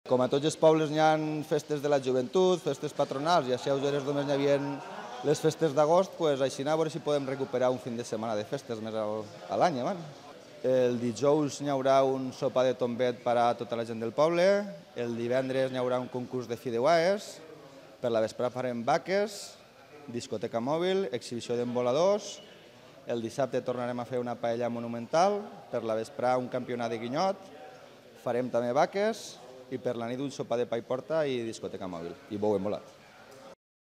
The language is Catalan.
Com a tots els pobles n'hi ha festes de la joventut, festes patronals, i a Xeuseres només n'hi havia les festes d'agost, doncs així a veure si podem recuperar un fin de setmana de festes més a l'any. El dijous n'hi haurà un sopar de tombet per a tota la gent del poble, el divendres n'hi haurà un concurs de fideuaes, per la vesprada farem vaques, discoteca mòbil, exhibició d'emboladors, el dissabte tornarem a fer una paella monumental, per la vesprada un campionat de guinyot, farem també vaques i per la nit un sopar de pa i porta i discoteca mòbil i bou embolat.